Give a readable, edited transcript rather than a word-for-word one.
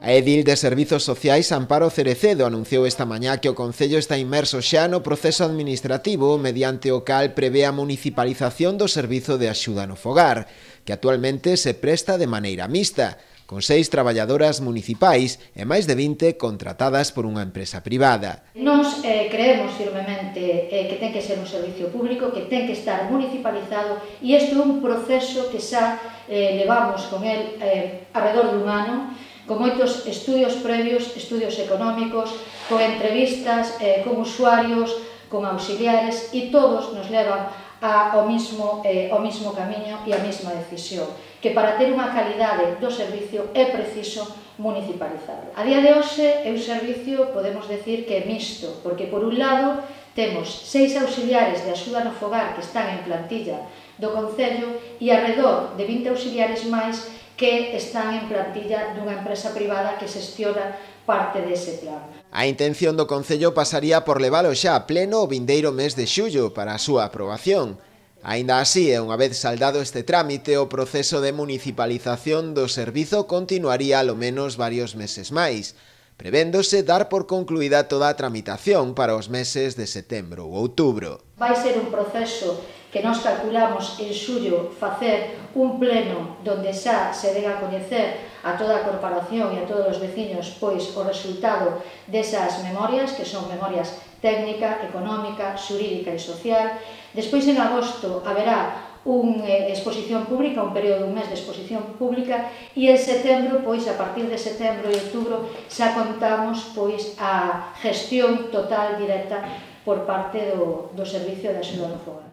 A edil de Servizos Sociais Amparo Cerecedo anunciou esta mañá que o Concello está inmerso xa no proceso administrativo mediante o cal prevé a municipalización do servizo de axuda no fogar, que actualmente se presta de maneira mixta, con 6 traballadoras municipais e máis de 20 contratadas por unha empresa privada. Nós creemos firmemente que ten que ser un servicio público, que ten que estar municipalizado, e isto é un proceso que xa levamos con el alrededor dun ano, con moitos estudios previos, estudios económicos, con entrevistas con usuarios, con auxiliares, e todos nos levan ao mismo camiño e á mesma decisión, que para ter unha calidade do servicio é preciso municipalizarlo. A día de hoxe é un servicio, podemos decir, que é mixto, porque por un lado temos 6 auxiliares de axuda no fogar que están en plantilla do Concello e alrededor de 20 auxiliares máis que están en plantilla dunha empresa privada que xestiona parte dese plan. A intención do Concello pasaría por levalo xa a pleno o vindeiro mes de xullo para a súa aprobación. Aínda así, e unha vez saldado este trámite, o proceso de municipalización do servizo continuaría alo menos varios meses máis, prevéndose dar por concluída toda a tramitación para os meses de setembro ou outubro. Vai ser un proceso que nós calculamos en xullo facer un pleno donde xa se dega a coñecer a toda a corporación e a todos os veciños pois o resultado desas memorias, que son memorias técnica, económica, xurídica e social. Despois en agosto haberá unha exposición pública, un período dun mes de exposición pública, e en setembro, pois a partir de setembro e outubro, xa contamos pois a gestión total directa por parte do Servicio de Axuda no Fogar.